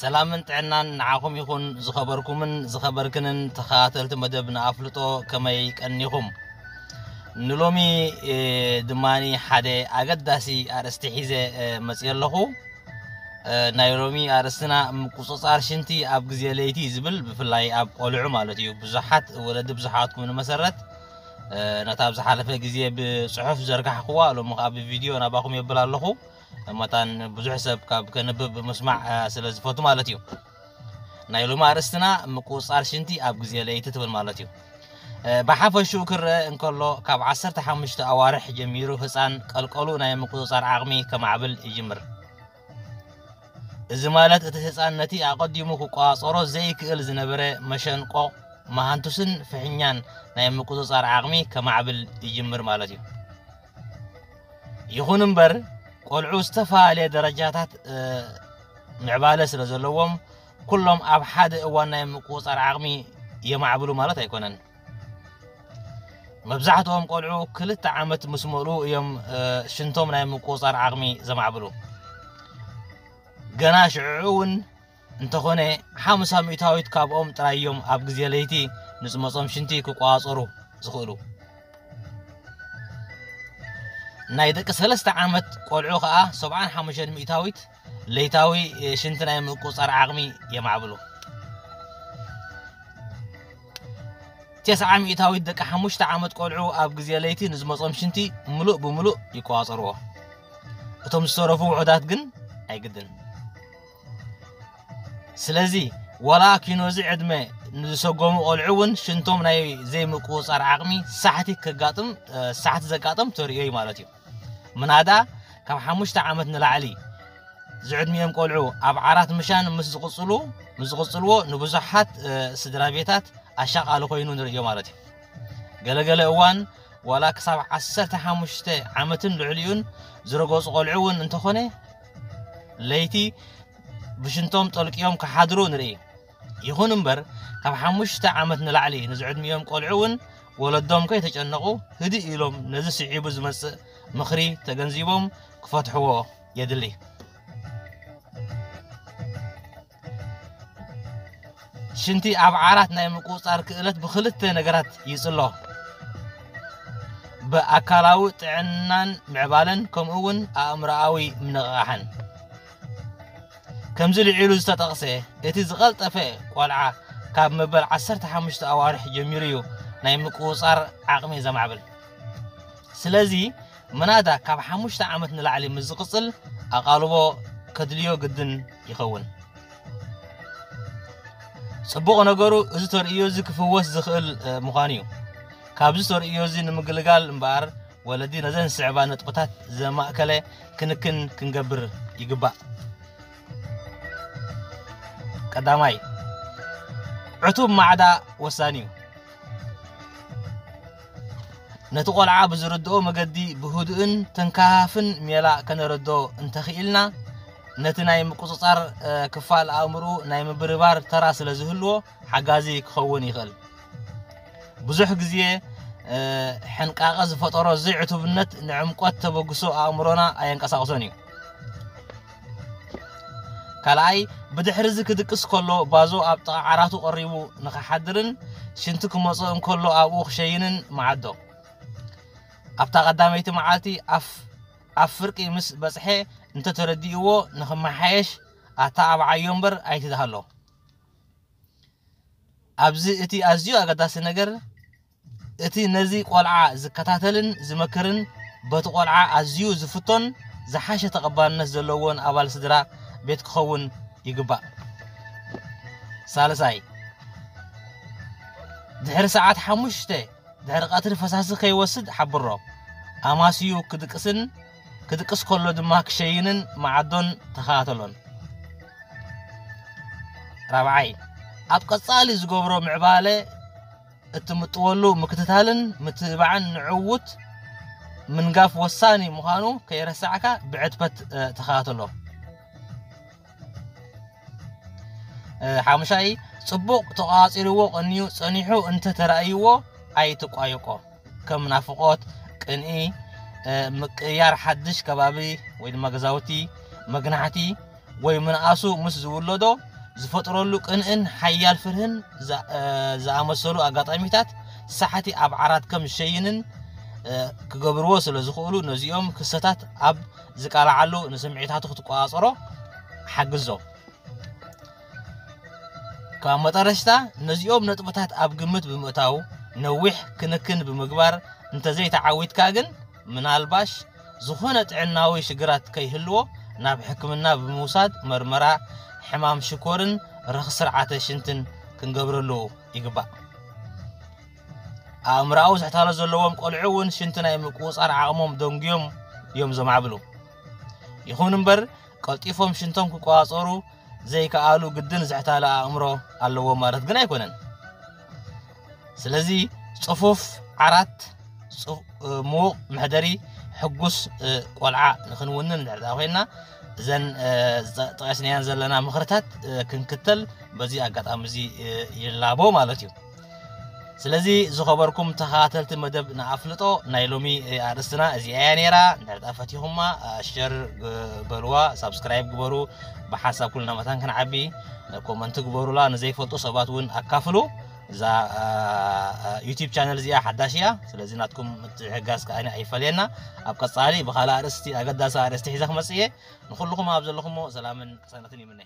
ሰላምን ጥዕናን ንዓኹም ይኹን። ዝኸበርኩምን ዝኸበርክንን ተኸታተልቲ መደብ ንኣፍልጦ፣ ከመይ ቀኒኹም? ንሎሚ፣ እ፣ ድማኒ ሓደ ኣገዳሲ ኣርእስቲ ሒዘ፣ እ፣ መፅየ ኣለኹ። እ፣ ናይ ሎሚ ኣርእስትና ምቁጽጻር ሽንቲ ኣብ ግዜ ለይቲ ዝብል፣ ብፍላይ ኣብ ቆልዑ ማለት እዩ። ብዙሓት ወለዲ ብዙሓትኩም ንመሰረት፣ እ፣ ነታ ኣብ ዝሓለፈ ግዜ ብጽሑፍ ዘርጋሕክዋ፣ ሎሚ ከኣ ብቪድዮ ናባኹም የብል ኣለኹ። መታን ብዙሕ ሰብ ካብ ከንብብ ምስማዕ፣ እ፣ ስለ ዝፈቱ ማለት እዩ። ናይ ሎሚ ኣርእስትና ምቁጽጻር ሽንቲ ኣብ ግዜ ለይቲ ትብል ማለት እዩ። እ፣ ብሓፈሽኡ ክረአ እንከሎ፣ ካብ ዓሰርተ ሓሙሽተ ኣዋርሕ ጀሚሩ ህጻን ቀልቀሉ ናይ ምቁጽጻር ዓቕሚ ከማዕብል ይጅምር። እዚ ማለት እቲ ህጻን ነቲ ኣቐዲሙ ክቆጻጸሮ ዘይክእል ዝነበረ መሸንቆቕ፣ መሃንቱስን ፍሕኛን ናይ ምቁጽጻር ዓቕሚ ከማዕብል ይጅምር ማለት እዩ። ይኹን እምበር፣ ቆልዑ ዝተፈላለየ ደረጃታት፣ እ፣ ምዕባለ ስለ ዘለዎም፣ ኩሎም ኣብ ሓደ እዋን ናይ ምቁጽጻር ዓቕሚ የማዕብሉ ማለት ኣይኮነን። መብዛሕትኦም ቆልዑ ክልተ ዓመት ምስ መልኡ እዮም፣ እ፣ ሽንቶም ናይ ምቁጽጻር ዓቕሚ ዘማዕብሉ። ገና ሽዑ እውን እንተኾነ፣ ሓምሳ ሚእታዊት ካብኦም ጥራይ እዮም ኣብ ግዜ ለይቲ ንዝመጾም ሽንቲ ክቆጻጸሩ ዝኽእሉ። ናይ ደቂ ሰለስተ ዓመት ቆልዑ ከኣ ሰብዓን ሓሙሽተን ሚእታዊት ለይታዊ፣ እ፣ ሽንቲ ናይ ምቁጽጻር ዓቕሚ የማዕብሉ። ተስዓ ሚእታዊት ደቂ ሓሙሽተ ዓመት ቆልዑ ኣብ ግዜ ለይቲ ንዝመጾም ሽንቲ ምሉእ ብምሉእ ይቆጻጸርዎ። እቶም ዝተረፉ ውሑዳት ግን ኣይግድን። ስለዚ፣ ዋላ ኪኖዚ ዕድመ ንዝሰጎሙ ቆልዑ እውን ሽንቶም ናይ ዘይምቁጽጻር ዓቕሚ ሳሕቲ ከጋጥም፣ እ፣ ሳሕቲ ዘጋጥም ተርእዮ እዩ ማለት እዩ። ምናዳ ካብ ሓሙሽተ ዓመት ንላዕሊ ዝዕድሚኦም ቆልዑ ኣብ ዓራት ምሻን ምስ ዝቕጽሉ፣ ምስ ዝቕጽልዎ ንብዙሓት፣ እ፣ ስድራ ቤታት ኣሻቓሊ ኮይኑ ንርእዮ ማለት እዩ። ገለገለ እዋን ዋላ ክሳብ ዓሰርተ ሓሙሽተ ዓመትን ልዕሊኡን ዝረገጹ ቆልዑ እውን እንተኾነ ለይቲ ብሽንቶም ጠልቅዮም ክሓድሩ ንርኢ። ይኹን እምበር ካብ ሓሙሽተ ዓመት ንላዕሊ ንዝዕድሚኦም ቆልዑ እውን ወለዶም ከይተጨነቑ ህድእ ኢሎም ነዚ ስዒቡ ዝመጽእ ምኽሪ ተገንዚቦም ክፈትሕዎ የድሊ። ሽንቲ ኣብ ዓራት ናይ ምቁጽጻር ክእለት ብኽልተ ነገራት ይጽሎ። ብኣካላዊ ጥዕናን ምዕባለን ከምኡ እውን ኣእምሮኣዊ ምንቕቓሕን። ከምዚ ልዒሉ ዝተጠቕሰ፣ እቲ ዝቐልጠፈ ቆልዓ ካብ መበል ዓሰርተ ሓሙሽተ ኣዋርሕ ጀሚሩ እዩ ናይ ምቁጽጻር ዓቕሚ ዘማዕብል። ስለዚ፣ ምናዳ ካብ ሓሙሽተ ዓመት ንላዕሊ ምስ ዝቕጽል፣ ኣቓልቦ ከድልዮ ግድን ይኸውን። ጽቡቕ ነገሩ፣ እዚ ተርእዮ እዚ ክፍወስ ዝኽእል፣ እ፣ ምዃኑ እዩ። ካብዚ ተርእዮ እዚ ንምግልጋል እምበኣር፣ ወለዲ ነዘን ዝስዕባ ነጥብታት ዘማእከለ ክንክን ክንገብር ይግባእ። ቀዳማይ፣ ዕቱብ ማዕዳ ወሳኒ እዩ። ነቲ ቆልዓ ብዝርድኦ መገዲ ብህዱእን ተንካፍን ሜላ ከነረድኦ እንተኽኢልና፣ ነቲ ናይ ምቁጽጻር፣ እ፣ ክፋል ኣእምሮኡ ናይ ምብርባር ተራ ስለ ዝህልዎ፣ ሓጋዚ ክኸውን ይኽእል። ብዙሕ ግዜ፣ እ፣ ሕንቃቐ ዝፈጠሮ ዘይዕቱብነት ንዕምቆት ተበግሶ ኣእምሮና ኣየንቀሳቕሶን እዩ። ካልኣይ፣ ብድሕሪ እዚ ክድቅስ ከሎ ባዞ ኣብ ጥቓ ዓራቱ ቀሪቡ ንኽሓድርን ሽንቲ ክመጾ እንከሎ ኣብኡ ክሸይንን መዓዶ። ኣብታ ቀዳመይቲ መዓልቲ ኣፍ-፣ ኣብ ፍርቂ ምስ በጽሐ እንተተረዲእዎ ንኽመሓየሽ ኣተዓብዓዮ እምበር ኣይትድሃሎ። ኣብዚ እቲ ኣዝዩ ኣገዳሲ ነገር፣ እቲ ነዚ ቆልዓ ዝከታተልን ዝመክርን በቲ ቆልዓ ኣዝዩ ዝፍቶን ዝሓሸ ተቐባልነት ዘለዎን ኣባል ስድራ ቤት ክኸውን ይግባእ። ሳልሳይ፣ ድሕሪ ሰዓት ሓሙሽተ ድሕሪ ቀትሪ ፈሳሲ ከይወስድ ሓብሮ። ኣማስዩ ክድቅስን ክድቅስ ከሎ ድማ ክሸይንን መዓዶን ተኸታተሎን። ራብዓይ፣ ኣብ ቀጻሊ ዝገብሮ ምዕባለ እትምጥወሉ ምክትታልን ምትብባዕን ንዕውት ምንጋፍ ወሳኒ ምዃኑ ከይረሳዕካ ብዕትበት፣ እ፣ ተኸታተሎ። እ፣ ሓሙሻይ፣ ጽቡቕ ተቋጺርዎ ቀንዩ ጸኒሑ እንተ ተራእይዎ ኣይትቋየቆ። ከም ናፍቖት፣ ቅንኢ፣ እ፣ ምቅይያር ሓድሽ ከባቢ ወይ ድማ ገዛውቲ፣ መግናሕቲ ወይ ምንኣሱ ምስ ዝውለዶ ዝፈጥረሉ ቅንእን ሓያል ፍርህን ዝኣመሰሉ ኣጋጣሚታት ሳሕቲ ኣብ ዓራት ከም ዝሸይንን ክገብርዎ ስለ ዝኽእሉ፣ ነዚኦም ክስተታት ኣብ ዝቃልዓሉ ንስምዒታቱ ክትቆጻጸሮ ሓግዞ። ካብ መጠረሽታ፣ ነዚኦም ነጥብታት ኣብ ግምት ብምእታው ነዊሕ ክንክን ብምግባር እንተዘይተዓዊትካ ግን፣ ምናልባሽ ዝኾነ ጥዕናዊ ሽግራት ከይህልዎ ናብ ሕክምና ብምውሳድ መርመራ ሕማም ሽኮርን ረኽሲ ስርዓተ ሽንትን ክንገብረሉ ይግባእ። ኣእምሮኣዊ ዝሕታሎ ዘለዎም ቆልዑ እውን ሽንቲ ናይ ምቁጽጻር ዓቕሞም ደንጉዮም እዮም ዘማዕብሉ። ይኹን እምበር፣ ቀልጢፎም ሽንቶም ክቆጻጸሩ ዘይከኣሉ ግድን ዝሕታለ ኣእምሮ ኣለዎም ማለት ግን ኣይኮነን። ስለዚ ጽፉፍ ዓራት፣ ጽፉ-፣ እ፣ ምዉቕ መሕደሪ፣ ሕጉስ፣ እ፣ ቆልዓ ንኽንውንን እንድሕር ደኣ ኮይንና፣ እዘን፣ እ፣ ዝጠ-፣ ጠቐስናየን ዘለና ምኽርታት፣ እ፣ ክንክተል በዚ ኣጋጣሚ እዚ፣ እ፣ ይላቦ ማለት እዩ። ስለዚ ዝኸበርኩም ተኸታተልቲ መደብ ንኣፍልጦ፣ ናይ ሎሚ፣ እ፣ ኣርእስትና እዚኣ እያ ነይራ። እንድሕር ደኣ ፈቲኹማ፣ እ፣ ሸር ግ-፣ በልዋ፣ ሳብስክራይብ ግበሩ። ብሓንሳብ ኩልና መታን ክንዓቢ፣ እ፣ ኮመንት ግበሩላ። ንዘይፈልጡ ሰባት እውን ኣካፍሉ። እዛ፣ እ፣ እ፣ ዩቲዩብ ቻነል እዚኣ ሓዳሽ እያ። ስለዚ ናትኩም ምትሕግጋዝ ከኣ ኣይፈለየና። ኣብ ቀጻሊ ብኻልእ ኣርእስቲ፣ ኣገዳሲ ኣርእስቲ ሒዘ ክመጽእ እየ። ንኹልኹም ኣብ ዘለኹሞ ሰላምን ቅሳነትን ይምነ።